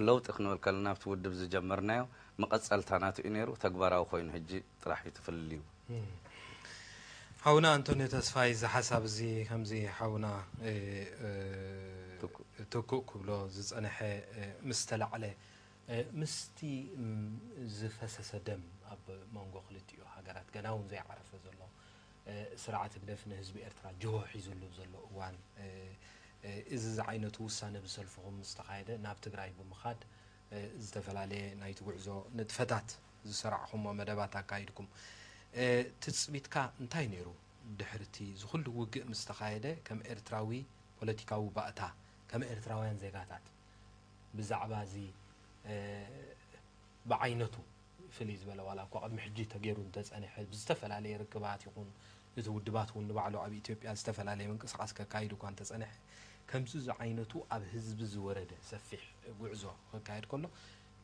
ለውጢ ክንብል ከለና ኣብቲ ውድብ ዝጀመርናዮ መቐጸልታ ናቱ እዩ ነይሩ፣ ተግባራዊ ኮይኑ ሕጂ ጥራሕ እዩ ትፍልልዩ። ሓውና ኣንቶንዮ ተስፋይ፣ እዚ ሓሳብ እዚ ከምዚ ሓውና ትኩእ ክብሎ ዝጸንሐ ምስ ተላዕለ፣ ምስቲ ዝፈሰሰ ደም ኣብ መንጎ ክልቲኡ ሃገራት ገና እውን ዘይዓረፈ ዘሎ ስርዓት ህግደፍ ንህዝቢ ኤርትራ ጅሆ ሒዙሉ ዘሎ እዋን፣ እዚ ዝዓይነቱ ውሳነ ብሰልፍኹም ዝተኻየደ ናብ ትግራይ ብምኻድ ዝተፈላለየ ናይቲ ጉዕዞ ንጥፈታት ዝሰራዕኹሞ መደባት ኣካይድኩም። ትጽቢትካ እንታይ ነይሩ? ድሕርቲ ዝኹሉ ውግእ ምስ ተኻየደ ከም ኤርትራዊ ፖለቲካዊ ባእታ፣ ከም ኤርትራውያን ዜጋታት ብዛዕባ እዚ ብዓይነቱ ፍልይ ዝበለ ዋላ እኳ ቅድሚ ሕጂ ተገይሩ እንተጸንሐ ብዝተፈላለየ ርክባት ይኹን እቲ ውድባት እውን ንባዕሉ ኣብ ኢትዮጵያ ዝተፈላለየ ምንቅስቃስ ከካይድ እኳ እንተጸንሐ ከምዚ ዝዓይነቱ ኣብ ህዝቢ ዝወረደ ሰፊሕ ጉዕዞ ክካየድ ከሎ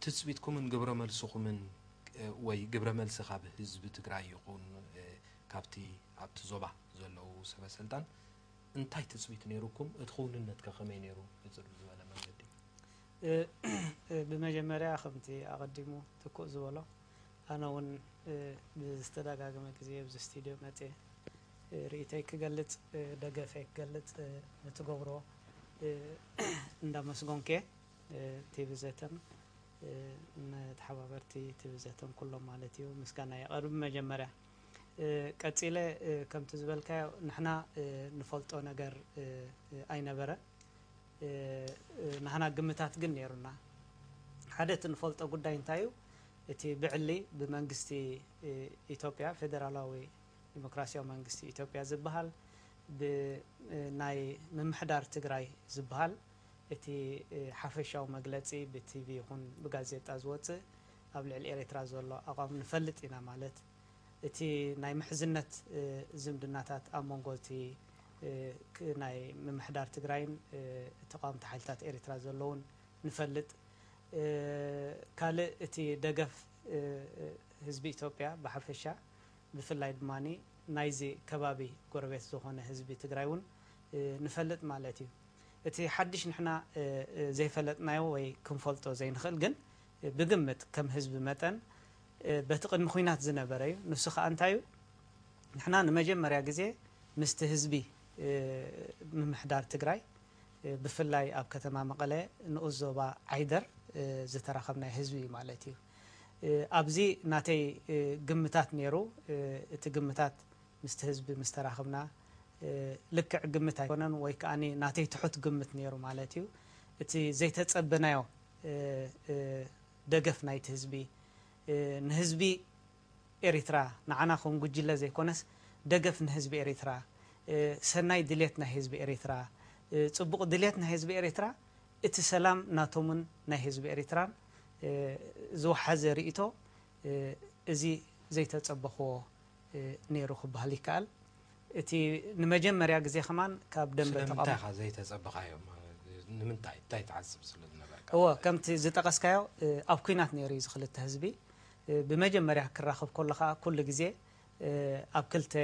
ትጽቢትኩምን ግብረ መልስኹምን ወይ ግብረ መልሲ ካብ ህዝቢ ትግራይ ይኹን ካብቲ ኣብቲ ዞባ ዘለዉ ሰበ ስልጣን እንታይ ትጽቢት ነይሩኩም? እቲ ክውንነት ከ ከመይ ነይሩ? ሕጽር ብዝበለ መንገዲ። ብመጀመርያ ከምቲ ኣቐዲሙ ትኩእ ዝበሎ ኣነ እውን ብዝተደጋገመ ግዜ ኣብዚ ስቱድዮ መፅየ ርእይተይ ክገልፅ ደገፈይ ክገልፅ ንትገብሮ እንዳመስገንኩ እየ። ቲቪ ዘተን ንተሓባበርቲ ቲቪ ዘተን ኩሎም ማለት እዩ ምስጋና የቐርብ። መጀመርያ ቀፂለ ከምቲ ዝበልካዮ ንሕና ንፈልጦ ነገር ኣይነበረ። ንሕና ግምታት ግን ነይሩና። ሓደ እቲ ንፈልጦ ጉዳይ እንታይ እዩ? እቲ ብዕሊ ብመንግስቲ ኢትዮጵያ፣ ፌደራላዊ ዲሞክራሲያዊ መንግስቲ ኢትዮጵያ ዝበሃል፣ ብናይ ምምሕዳር ትግራይ ዝበሃል እቲ ሓፈሻዊ መግለፂ ብቲቪ ይኹን ብጋዜጣ ዝወፅእ ኣብ ልዕሊ ኤርትራ ዘሎ ኣቋም ንፈልጥ ኢና። ማለት እቲ ናይ ምሕዝነት ዝምድናታት ኣብ መንጎ እቲ ናይ ምምሕዳር ትግራይን ተቃወምቲ ሓይልታት ኤርትራ ዘለውን ንፈልጥ። ካልእ እቲ ደገፍ ህዝቢ ኢትዮጵያ ብሓፈሻ ብፍላይ ድማ ናይዚ ከባቢ ጎረቤት ዝኾነ ህዝቢ ትግራይ እውን ንፈልጥ ማለት እዩ። እቲ ሓድሽ ንሕና ዘይፈለጥናዮ ወይ ክንፈልጦ ዘይንኽእል ግን ብግምት ከም ህዝቢ መጠን በቲ ቅድሚ ኹናት ዝነበረ እዩ። ንሱ ከዓ እንታይ እዩ? ንሕና ንመጀመርያ ግዜ ምስቲ ህዝቢ ምምሕዳር ትግራይ ብፍላይ ኣብ ከተማ መቐለ ንኡስ ዞባ ዓይደር ዝተራኸብናዮ ህዝቢ እዩ ማለት እዩ። ኣብዚ ናተይ ግምታት ነይሩ። እቲ ግምታት ምስቲ ህዝቢ ምስ ተራኸብና ልክዕ ግምት ኣይኮነን ወይ ከዓ ናተይ ትሑት ግምት ነይሩ ማለት እዩ። እቲ ዘይተፀበናዮ ደገፍ ናይቲ ህዝቢ ንህዝቢ ኤሪትራ ንዓና ከም ጉጅለ ዘይኮነስ ደገፍ ንህዝቢ ኤሪትራ፣ ሰናይ ድሌት ናይ ህዝቢ ኤሪትራ፣ ፅቡቕ ድሌት ናይ ህዝቢ ኤሪትራ፣ እቲ ሰላም ናቶምን ናይ ህዝቢ ኤሪትራን ዝወሓዘ ርእይቶ እዚ ዘይተፀበኽዎ ነይሩ ክበሃል ይከኣል። እቲ ንመጀመርያ ግዜ ከማን ካብ ደንበ ስለምንታይ ተቓውሞ ኢኻ ዘይተጸበኻዮም? ንምንታይ? እንታይ ትሓስብ ስለ ዝነበርካ? እወ፣ ከምቲ ዝጠቐስካዮ ኣብ ኲናት ነይሩ እዩ እዚ ክልተ ህዝቢ። ብመጀመርያ ክራኸብ ከሎ ከዓ ኩሉ ግዜ ኣብ ክልተ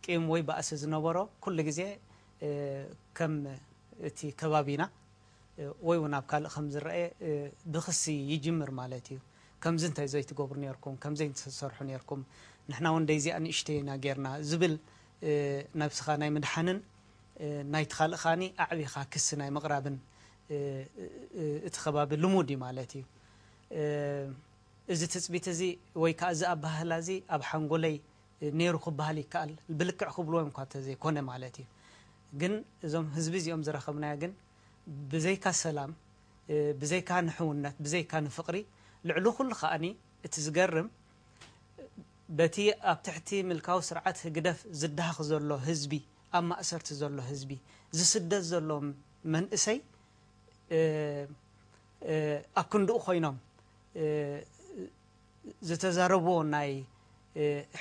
ቂም ወይ ባእሲ ዝነበሮ ኩሉ ግዜ ከም እቲ ከባቢና ወይ እውን ኣብ ካልእ ከም ዝረአ ብኽሲ ይጅምር ማለት እዩ። ከምዚ እንታይ ዘይትገብሩ ነርኩም፣ ከምዚ ዘይትሰርሑ ነርኩም፣ ንሕና እውን ደይዚኣ ንእሽተይ ኢና ጌርና ዝብል ነብስኻ ናይ ምድሓንን ናይቲ ካልእ ከዓኒ ኣዕቢኻ ክሲ ናይ ምቕራብን እቲ ከባቢ ልሙድ እዩ ማለት እዩ። እዚ ትፅቢት እዚ ወይ ከዓ እዚ ኣባህላ እዚ ኣብ ሓንጎለይ ነይሩ ክበሃል ይከኣል። ብልክዕ ክብልዎ እንኳ ተዘይኮነ ማለት እዩ። ግን እዞም ህዝቢ እዚኦም ዝረኸብናዮ ግን ብዘይካ ሰላም፣ ብዘይካ ንሕውነት፣ ብዘይካ ንፍቕሪ፣ ልዕሊ ኩሉ ከዓኒ እቲ ዝገርም በቲ ኣብ ትሕቲ ምልካዊ ስርዓት ህግደፍ ዝዳሃኽ ዘሎ ህዝቢ፣ ኣብ ማእሰርቲ ዘሎ ህዝቢ፣ ዝስደድ ዘሎ መንእሰይ ኣብ ክንድኡ ኮይኖም ዝተዛረብዎ ናይ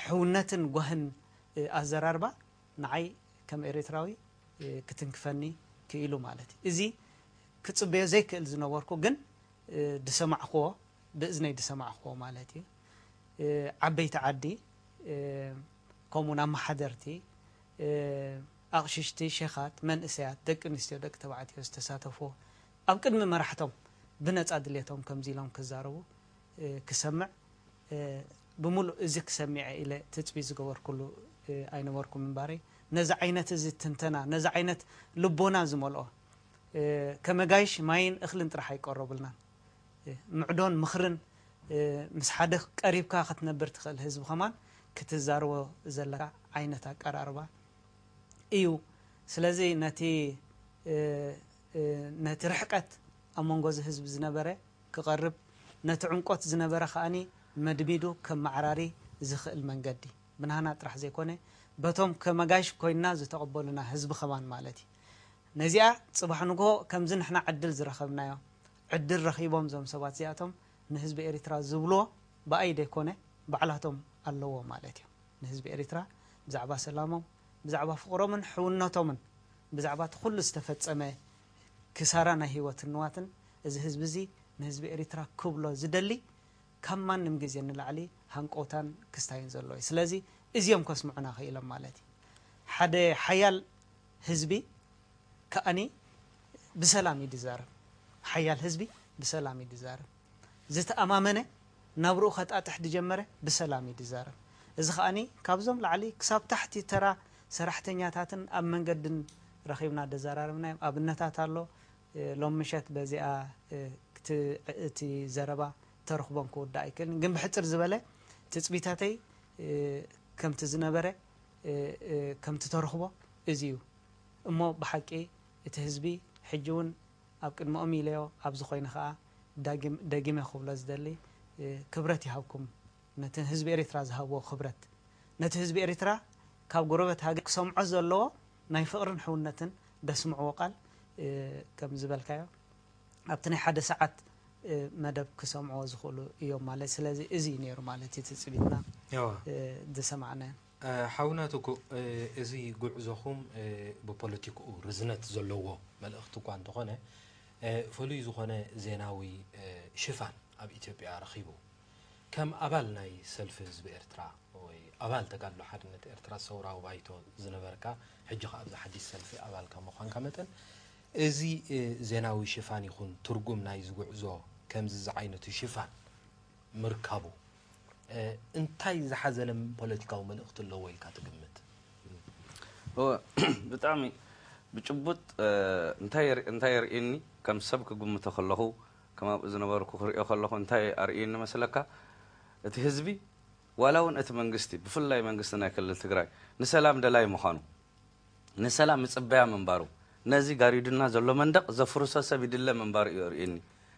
ሕውነትን ጓህን ኣዘራርባ ንዓይ ከም ኤርትራዊ ክትንክፈኒ ክኢሉ ማለት እዩ። እዚ ክጽበዮ ዘይክእል ዝነበርኩ ግን ድሰማዕክዎ ብእዝነይ ድሰማዕክዎ ማለት እዩ። ዓበይቲ ዓዲ ከምኡውን ኣመሓደርቲ ኣቕሽሽቲ፣ ሸኻት፣ መንእሰያት፣ ደቂ ኣንስትዮ፣ ደቂ ተባዕትዮ ዝተሳተፍዎ ኣብ ቅድሚ መራሕቶም ብነጻ ድሌቶም ከምዚ ኢሎም ክዛረቡ ክሰምዕ፣ ብምሉእ እዚ ክሰሚዐ ኢለ ትጽቢት ዝገበርኩሉ ኣይነበርኩም እምበረይ። ነዚ ዓይነት እዚ ትንተና፣ ነዚ ዓይነት ልቦና ዝመልኦ፣ ከመጋይሽ ማይን እኽልን ጥራሕ ኣይቀረቡልናን። ምዕዶን ምኽርን፣ ምስ ሓደ ቀሪብካ ክትነብር ትኽእል ህዝቢ ከማን ክትዛረቦ ዘለካ ዓይነት ኣቀራርባ እዩ። ስለዚ ነቲ፣ ነቲ ርሕቀት ኣብ መንጎ እዚ ህዝቢ ዝነበረ ክቐርብ፣ ነቲ ዕምቆት ዝነበረ ከኣኒ መድሚዱ ከመዓራሪ ዝኽእል መንገዲ ብናህና ጥራሕ ዘይኮነ፣ በቶም ከመጋይሽ ኮይንና ዝተቐበሉና ህዝቢ ከማን ማለት እዩ። ነዚኣ ጽባሕ ንግሆ ከምዚ ንሕና ዕድል ዝረኸብናዮ፣ ዕድል ረኺቦም እዞም ሰባት እዚኣቶም ንህዝቢ ኤሪትራ ዝብልዎ ብኣይ ደይኮነ ባዕላቶም ኣለዎ ማለት እዩ። ንህዝቢ ኤሪትራ ብዛዕባ ሰላሞም፣ ብዛዕባ ፍቕሮምን ሕውነቶምን፣ ብዛዕባ እቲ ኩሉ ዝተፈጸመ ክሳራ ናይ ህይወትን ንዋትን እዚ ህዝቢ እዚ ንህዝቢ ኤሪትራ ክብሎ ዝደሊ ካብ ማንም ግዜ ንላዕሊ ሃንቀውታን ክስታይን ዘለዎ እዩ። ስለዚ እዚኦም ከስምዑና ክኢሎም ማለት እዩ። ሓደ ሓያል ህዝቢ ከኣኒ ብሰላም እዩ ዝዛረብ። ሓያል ህዝቢ ብሰላም እዩ ዝዛረብ። ዝተኣማመነ ናብርኡ ከጣጥሕ ዝጀመረ ብሰላም እዩ ዝዛረብ። እዚ ከኣኒ ካብዞም ላዕሊ ክሳብ ታሕቲ ተራ ሰራሕተኛታትን ኣብ መንገድን ረኺብና ደዘራረብናዮም ኣብነታት ኣሎ። ሎም ምሸት በዚኣ እቲ ዘረባ ተረኽቦን ክውዳእ ኣይክእልን። ግን ብሕጽር ዝበለ ትጽቢታተይ ከምቲ ዝነበረ ከምቲ ተረኽቦ እዚ እዩ። እሞ ብሓቂ እቲ ህዝቢ ሕጂ እውን ኣብ ቅድመኦም ኢለዮ ኣብዚ ኮይነ ከኣ ዳግም-፣ ደጊመ ክብሎ ዝደሊ ክብረት ይሃብኩም። ነቲ ህዝቢ ኤሪትራ ዝሃብዎ ክብረት፣ ነቲ ህዝቢ ኤሪትራ ካብ ጎረበት ሃገር ክሰምዖ ዘለዎ ናይ ፍቕርን ሕውነትን ደስምዕዎ ቃል ከም ዝበልካዮ ኣብቲ ናይ ሓደ ሰዓት መደብ ክሰምዕዎ ዝኽእሉ እዮም ማለት። ስለዚ እዚ እዩ ነይሩ ማለት እዩ ትጽቢትና ዝሰማዕናዮ። ሓውና ትኩእ፣ እዚ ጉዕዞኹም ብፖለቲክኡ ርዝነት ዘለዎ መልእኽቲ እኳ እንተኾነ፣ ፍሉይ ዝኾነ ዜናዊ ሽፋን ኣብ ኢትዮጵያ ረኺቡ። ከም ኣባል ናይ ሰልፊ ህዝቢ ኤርትራ ወይ ኣባል ተጋድሎ ሓርነት ኤርትራ ሰውራዊ ባይቶ ዝነበርካ፣ ሕጂ ኸኣ ኣብዚ ሓድሽ ሰልፊ ኣባል ከም ምዃንካ መጠን፣ እዚ ዜናዊ ሽፋን ይኹን ትርጉም ናይዚ ጉዕዞ ከምዚ ዝዓይነቱ ሽፋን ምርካቡ እንታይ ዝሓዘለ ፖለቲካዊ መልእኽቲ ኣለዎ ኢልካ ትግምት? እወ፣ ብጣዕሚ ብጭቡጥ እንታይ የር-፣ እንታይ የርእየኒ፣ ከም ሰብ ክግምቶ ከለኹ፣ ከም ኣብኡ ዝነበርኩ ክርእዮ ከለኹ እንታይ ኣርእየኒ መስለካ? እቲ ህዝቢ፣ ዋላ እውን እቲ መንግስቲ፣ ብፍላይ መንግስቲ ናይ ክልል ትግራይ፣ ንሰላም ደላይ ምዃኑ፣ ንሰላም ይጽበያ ምንባሩ፣ ነዚ ጋሪዱና ዘሎ መንደቕ ዘፍርሶ ሰብ ይድለ ምንባሩ እዩ ኣርእየኒ።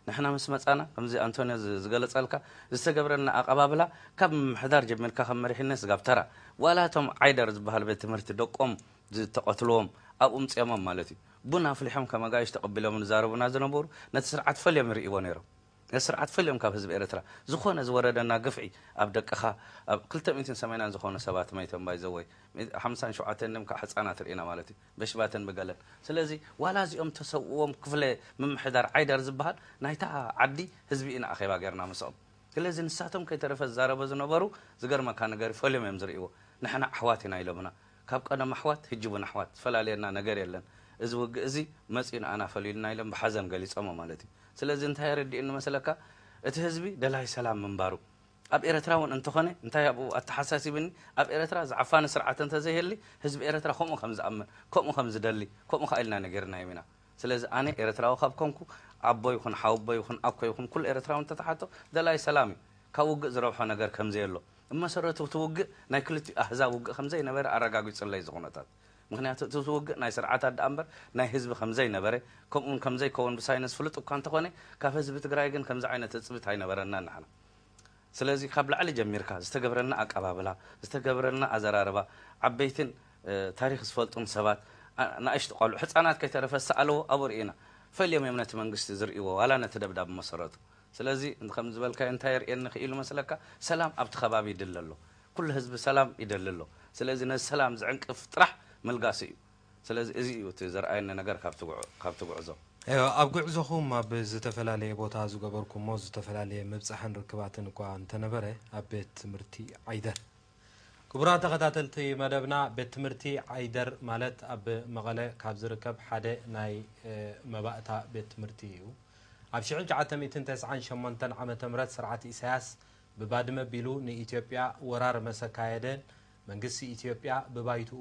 ንሕና ምስ መጻና፣ ከምዚ ኣንቶንዮ ዝ-፣ ዝገለጸልካ፣ ዝተገብረልና ኣቐባብላ፣ ካብ ምምሕዳር ጀሚርካ፣ ካብ መሪሕነት ስጋብ ተራ፣ ዋላ እቶም ዓይደር ዝበሃል ቤት ትምህርቲ ደቆም ዝተቐትልዎም፣ ኣብኡ ምጽዮሞም ማለት እዩ። ቡን ኣፍሊሖም ከም ኣጋይሽ ተቐቢሎም ዝዛረቡና ዝነበሩ፣ ነቲ ስርዓት ፈልዮም ይርእይዎ ነይሮም። ነቲ ስርዓት ፈልዮም ካብ ህዝቢ ኤርትራ ዝኾነ ዝወረደና ግፍዒ፣ ኣብ ደቅኻ፣ ኣብ ክልተ ሚእትን ሰማንያን ዝኾኑ ሰባት መይቶም፣ ባይዘወይ ሓምሳን ሸውዓተን ም ከዓ ህጻናት ርኢና ማለት እዩ፣ በሽባትን ብገለን። ስለዚ ዋላ እዚኦም ተሰውዎም ክፍለ ምምሕዳር ዓይደር ዝበሃል ናይታ ዓዲ ህዝቢ ኢና ኣኼባ ጌርና ምስኦም። ስለዚ ንሳቶም ከይተረፈ ዝዛረቡ ዝነበሩ፣ ዝገርመካ ነገር ፈልዮም እዮም ዝርእይዎ። ንሕና ኣሕዋት ኢና ኢሎምና። ካብ ቀደም ኣሕዋት፣ ህጂ እውን ኣሕዋት፣ ዝፈላልየና ነገር የለን። እዚ ውግእ እዚ መጺኡ ንኣና ፈሊዩልና ኢሎም ብሓዘን ገሊጾሞ ማለት እዩ። ስለዚ እንታይ የረድእኒ መሰለካ? እቲ ህዝቢ ደላይ ሰላም ምንባሩ። ኣብ ኤረትራ እውን እንተኾነ፣ እንታይ ኣብኡ ኣተሓሳሲብኒ፣ ኣብ ኤረትራ ዝዓፋኒ ስርዓት እንተዘይህሊ፣ ህዝቢ ኤረትራ ከምኡ ከም ዝኣምን፣ ከምኡ ከም ዝደሊ፣ ከምኡ ከኣ ኢልና ነጊርናዮም ኢና። ስለዚ ኣነ ኤረትራዊ ካብ ኮንኩ፣ ኣቦ ይኹን ሓወቦ ይኹን ኣኮ ይኹን ኩሉ ኤረትራዊ እንተተሓቶ፣ ደላይ ሰላም እዩ። ካብ ውግእ ዝረብሖ ነገር ከም ዘየሎ፣ ብመሰረቱ እቲ ውግእ ናይ ክልቲኡ ኣህዛብ ውግእ ከም ዘይነበረ ኣረጋጊጹለይ እዚ ኩነታት። ምኽንያቱ እቲ ውግእ ናይ ስርዓታት ደኣ እምበር ናይ ህዝቢ ከም ዘይነበረ፣ ከምኡ እውን ከም ዘይከውን ብሳይንስ ፍሉጥ እኳ እንተኾነ፣ ካብ ህዝቢ ትግራይ ግን ከምዚ ዓይነት ትጽቢት ኣይነበረናን ንሕና። ስለዚ ካብ ላዕሊ ጀሚርካ ዝተገብረልና ኣቀባብላ፣ ዝተገብረልና ኣዘራርባ፣ ዓበይትን ታሪኽ ዝፈልጡን ሰባት፣ ናእሽቱ ቆልዑ፣ ህፃናት ከይተረፈ ዝሰኣልዎ ኣብኡ ርኢና። ፈልዮም እዮም ነቲ መንግስቲ ዝርእይዎ ዋላ ነቲ ደብዳብ ብመሰረቱ። ስለዚ ከም ዝበልካዮ እንታይ የርእየኒ ክኢሉ መስለካ? ሰላም ኣብቲ ከባቢ ይድለ ኣሎ። ኩሉ ህዝቢ ሰላም ይደሊ ኣሎ። ስለዚ ነዚ ሰላም ዝዕንቅፍ ጥራሕ ምልጋሲ እዩ። ስለዚ እዚ እዩ እቲ ዘርኣየኒ ነገር ካብቲ ጉዕ-፣ ካብቲ ጉዕዞ። እዮ፣ ኣብ ጉዕዞኹም ኣብ ዝተፈላለየ ቦታ ዝገበርኩሞ ዝተፈላለየ ምብጻሕን ርክባትን እኳ እንተነበረ፣ ኣብ ቤት ትምህርቲ ዓይደር ክቡራት ተኸታተልቲ መደብና፣ ቤት ትምህርቲ ዓይደር ማለት ኣብ መቐለ ካብ ዝርከብ ሓደ ናይ መባእታ ቤት ትምህርቲ እዩ። ኣብ ሽሕን ትሽዓተ ሚእትን ተስዓን ሸሞንተን ዓመተ ምህረት ስርዓት ኢሳያስ ብባድመ ኣቢሉ ንኢትዮጵያ ወራር መሰካየደ መንግስቲ ኢትዮጵያ ብባይትኡ